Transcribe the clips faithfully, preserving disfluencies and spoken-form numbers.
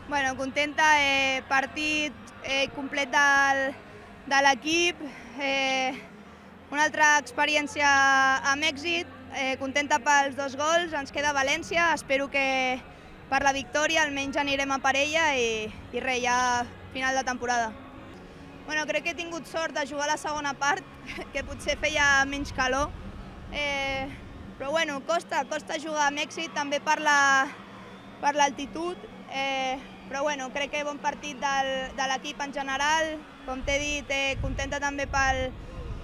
Bueno, contenta, eh, partit eh, complet del, de l'equip, eh, una altra experiència amb èxit, eh, contenta pels dos gols, ens queda València, espero que per la victòria almenys anirem a per ella i, i res, ja final de temporada. Bueno, crec que he tingut sort de jugar a la segona part, que potser feia menys calor, eh, però bueno, costa, costa jugar amb èxit, també per l'altitud, eh, però bueno, crec que bon partit del, de l'equip en general, com t'he dit, eh, contenta també pel,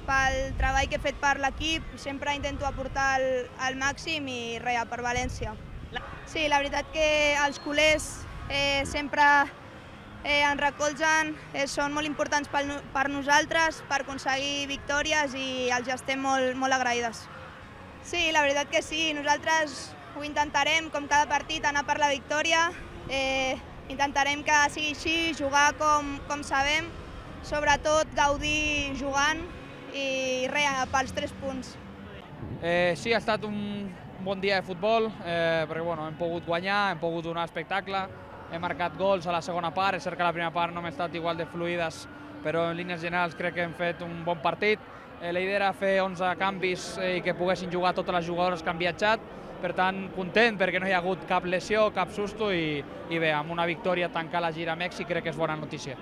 pel treball que he fet per l'equip, sempre intento aportar el, el màxim i res, per València. Sí, la veritat que els culers eh, sempre eh, ens recolzen, eh, són molt importants per, per nosaltres, per aconseguir victòries i els estem molt, molt agraïdes. Sí, la veritat que sí, nosaltres ho intentarem, com cada partit, anar per la victòria, eh, intentarem que sigui així, jugar com, com sabem, sobretot gaudir jugant i res, pels tres punts. Eh, sí, ha estat un bon dia de futbol, eh, perquè bueno, hem pogut guanyar, hem pogut donar espectacle, hem marcat gols a la segona part, és cert que la primera part no hem estat igual de fluides, però en línies generals crec que hem fet un bon partit. Eh, la idea era fer onze canvis eh, i que poguessin jugar totes les jugadores que han viatjat, per tant, content perquè no hi ha hagut cap lesió, cap susto i, i bé, amb una victòria tancar la gira a Mèxic crec que és bona notícia.